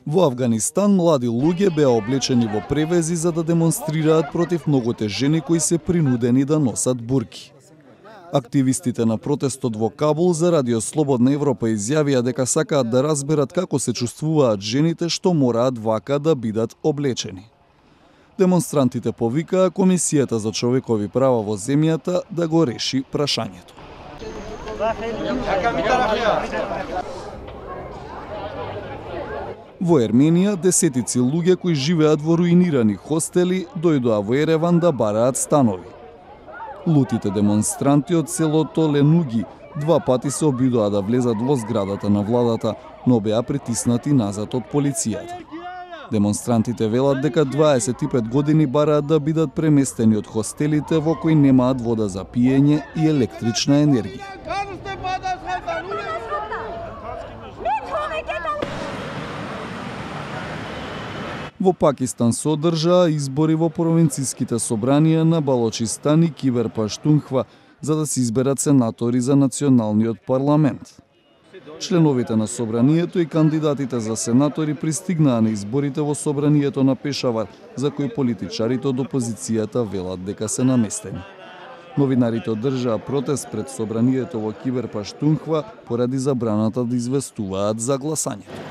Во Авганистан млади луѓе беа облечени во превези за да демонстрираат против многуте жени кои се принудени да носат бурки. Активистите на протестот во Кабул за Радио Слободна Европа изјавија дека сакаат да разберат како се чувствуваат жените што мораат вака да бидат облечени. Демонстрантите повикаа Комисијата за човекови права во земјата да го реши прашањето. Во Ерменија, десетици луѓе кои живеат во руинирани хостели дојдоа во Ереван да бараат станови. Лутите демонстранти од селото Ленуги 2 пати се обидоа да влезат во зградата на владата, но беа притиснати назад од полицијата. Демонстрантите велат дека 25 години бараат да бидат преместени од хостелите во кои немаат вода за пиење и електрична енергија. Во Пакистан се одржаа избори во провинцијските собранија на Балочистан и Кибер Паштунхва за да се изберат сенатори за националниот парламент. Членовите на собранието и кандидатите за сенатори пристигнаа на изборите во собранието на Пешавар, за кои политичарите од опозицијата велат дека се наместени. Новинарите одржаа протест пред собранието во Кибер Паштунхва поради забраната да известуваат за гласањето.